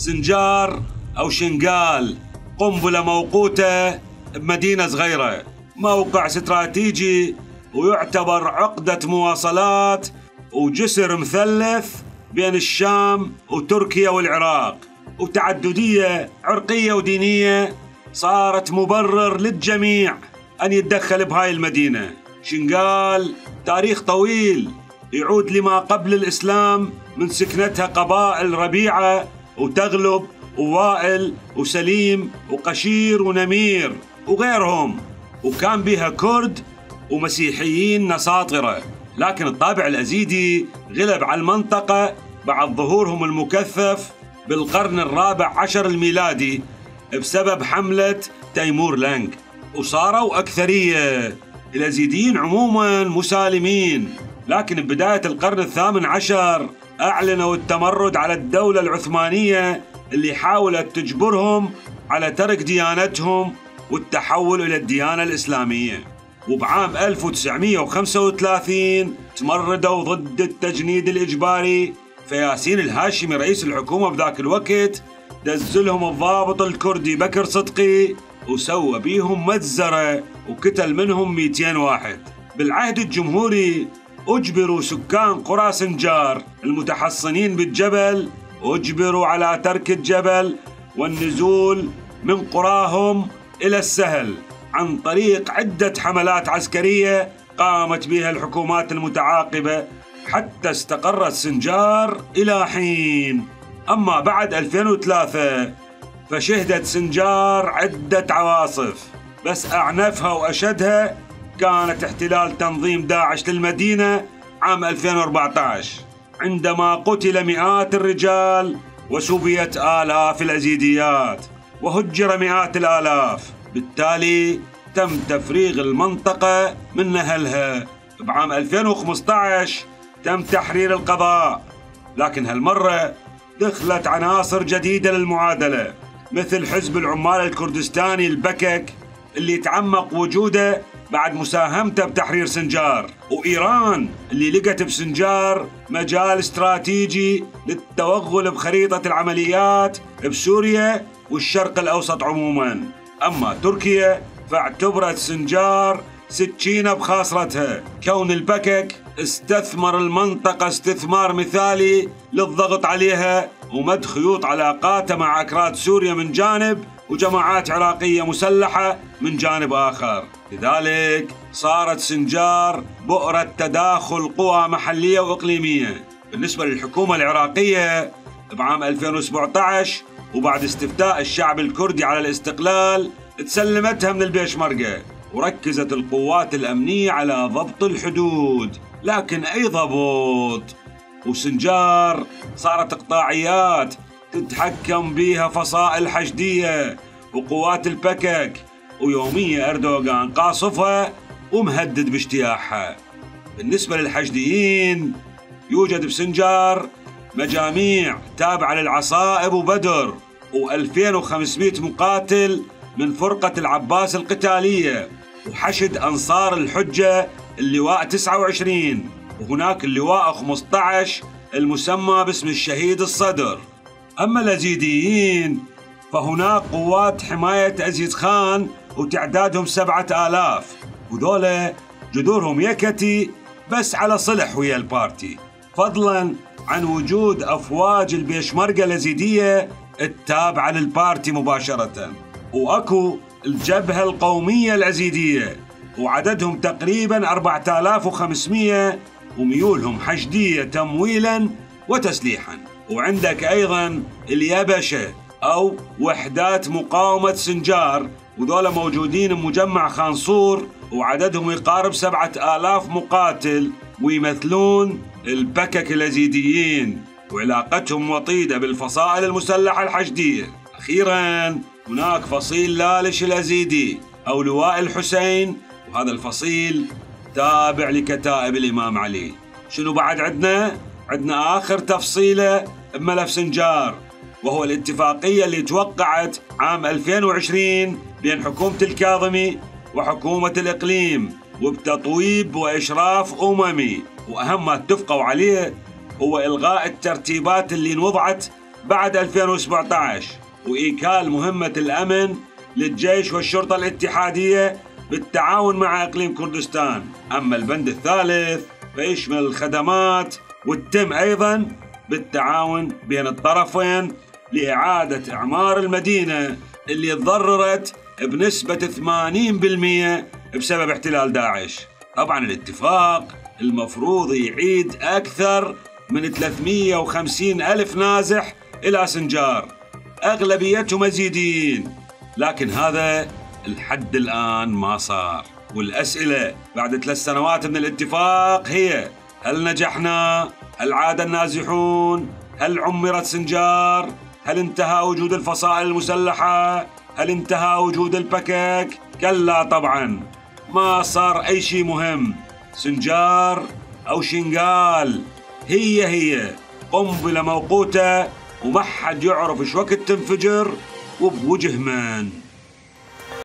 سنجار أو شنقال، قنبلة موقوتة بمدينة صغيرة، موقع استراتيجي ويعتبر عقدة مواصلات وجسر مثلث بين الشام وتركيا والعراق، وتعددية عرقية ودينية صارت مبرر للجميع أن يتدخل بهاي المدينة. شنقال تاريخ طويل يعود لما قبل الإسلام، من سكنتها قبائل ربيعة وتغلب ووائل وسليم وقشير ونمير وغيرهم، وكان بها كرد ومسيحيين نساطرة. لكن الطابع الأزيدي غلب على المنطقة بعد ظهورهم المكثف بالقرن الرابع عشر الميلادي بسبب حملة تيمور لنك، وصاروا أكثرية. الأزيديين عموما مسالمين، لكن ببداية القرن الثامن عشر أعلنوا التمرد على الدولة العثمانية اللي حاولت تجبرهم على ترك ديانتهم والتحول إلى الديانة الإسلامية. وبعام 1935 تمردوا ضد التجنيد الإجباري، فياسين الهاشمي رئيس الحكومة بذاك الوقت دزلهم الضابط الكردي بكر صدقي وسوى بيهم مجزرة وقتل منهم 200 واحد. بالعهد الجمهوري أجبروا سكان قرى سنجار المتحصنين بالجبل، أجبروا على ترك الجبل والنزول من قراهم إلى السهل عن طريق عدة حملات عسكرية قامت بها الحكومات المتعاقبة حتى استقرت سنجار إلى حين. أما بعد 2003 فشهدت سنجار عدة عواصف، بس أعنفها وأشدها كانت احتلال تنظيم داعش للمدينة عام 2014، عندما قتل مئات الرجال وسبيت آلاف الأزيديات وهجر مئات الآلاف. بالتالي تم تفريغ المنطقة من أهلها. بعام 2015 تم تحرير القضاء، لكن هالمرة دخلت عناصر جديدة للمعادلة، مثل حزب العمال الكردستاني البكك اللي تعمق وجوده بعد مساهمته بتحرير سنجار، وإيران اللي لقت بسنجار مجال استراتيجي للتوغل بخريطة العمليات بسوريا والشرق الأوسط عموما. أما تركيا فاعتبرت سنجار سكينة بخاصرتها، كون البكك استثمر المنطقة استثمار مثالي للضغط عليها ومد خيوط علاقاته مع أكراد سوريا من جانب وجماعات عراقية مسلحة من جانب آخر. لذلك صارت سنجار بؤرة تداخل قوى محلية وإقليمية. بالنسبة للحكومة العراقية بعام 2017 وبعد استفتاء الشعب الكردي على الاستقلال تسلمتها من البيشمركة، وركزت القوات الأمنية على ضبط الحدود، لكن أي ضبط؟ وسنجار صارت إقطاعيات تتحكم بها فصائل حشدية وقوات البكك، ويوميا أردوغان قاصفها ومهدد باجتياحها. بالنسبة للحشديين يوجد بسنجار مجاميع تابعة للعصائب وبدر، و2500 مقاتل من فرقة العباس القتالية، وحشد أنصار الحجة اللواء 29، وهناك اللواء 15 المسمى باسم الشهيد الصدر. أما الأزيديين فهناك قوات حماية أزيد خان وتعدادهم 7000، وذولا جذورهم يكتي بس على صلح ويا البارتي، فضلا عن وجود أفواج البيشمركة الأزيدية التابعة للبارتي مباشرة. وأكو الجبهة القومية الأزيدية وعددهم تقريبا 4500 وميولهم حشدية تمويلا وتسليحا. وعندك أيضا اليبشة أو وحدات مقاومة سنجار، وذولا موجودين بمجمع خانصور وعددهم يقارب 7000 مقاتل ويمثلون البكك الأزيديين، وعلاقتهم وطيدة بالفصائل المسلحة الحشدية. أخيرا هناك فصيل لالش الأزيدي أو لواء الحسين، وهذا الفصيل تابع لكتائب الإمام علي. شنو بعد عندنا آخر تفصيلة بملف سنجار، وهو الاتفاقية اللي توقعت عام 2020 بين حكومة الكاظمي وحكومة الإقليم وبتطويب وإشراف أممي، وأهم ما اتفقوا عليه هو إلغاء الترتيبات اللي انوضعت بعد 2017 وإيكال مهمة الأمن للجيش والشرطة الاتحادية بالتعاون مع إقليم كردستان. أما البند الثالث فيشمل الخدمات وتتم أيضا بالتعاون بين الطرفين لإعادة إعمار المدينة اللي تضررت بنسبة 80% بسبب احتلال داعش. طبعا الاتفاق المفروض يعيد أكثر من 350 ألف نازح إلى سنجار، أغلبيتهم يزيديين، لكن هذا الحد الآن ما صار. والأسئلة بعد 3 سنوات من الاتفاق هي: هل نجحنا؟ هل عاد النازحون؟ هل عمرت سنجار؟ هل انتهى وجود الفصائل المسلحة؟ هل انتهى وجود البكك؟ كلا طبعا، ما صار أي شيء مهم. سنجار أو شنغال هي قنبلة موقوتة وما حد يعرف ايش وقت تنفجر وبوجه من.